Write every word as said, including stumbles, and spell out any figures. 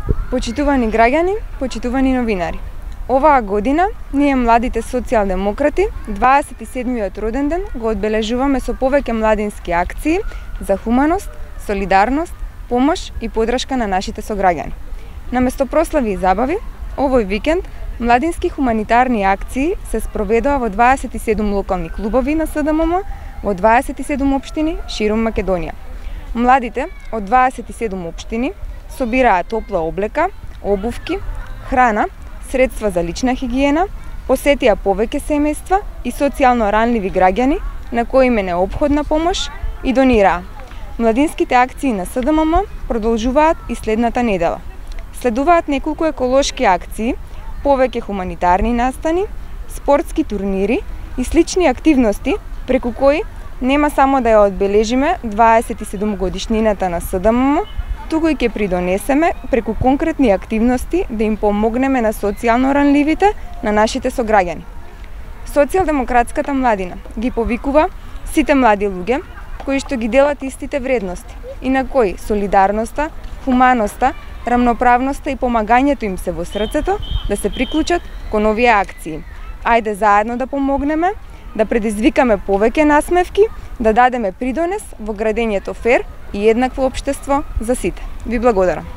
Почитувани граѓани, почитувани новинари. Оваа година ние младите социјалдемократи дваесет и седмиот роден ден го одбележуваме со повеќе младински акции за хуманост, солидарност, помош и поддршка на нашите сограѓани. Наместо прослави и забави, овој викенд младински хуманитарни акции се спроведоа во дваесет и седум локални клубови на СДММ во дваесет и седум општини ширум Македонија. Младите од дваесет и седум општини собираа топла облека, обувки, храна, средства за лична хигиена, посетија повеќе семејства и социјално ранливи граѓани на кои им е неопходна помош и донираа. Младинските акции на СДММ продолжуваат и следната недела. Следуваат неколку еколошки акции, повеќе хуманитарни настани, спортски турнири и слични активности преку кои нема само да ја одбележиме дваесет и седум годишнината на СДММ, туку и ќе придонесеме преку конкретни активности да им помогнеме на социјално ранливите на нашите сограѓани. Социјалдемократската младина ги повикува сите млади луѓе кои што ги делат истите вредности и на кои солидарноста, хуманоста, рамноправноста и помагањето им се во срцето да се приклучат кон овие акции. Ајде заедно да помогнеме, да предизвикаме повеќе насмевки, да дадеме придонес во градењето фер и еднакво општество за сите. Ви благодарам.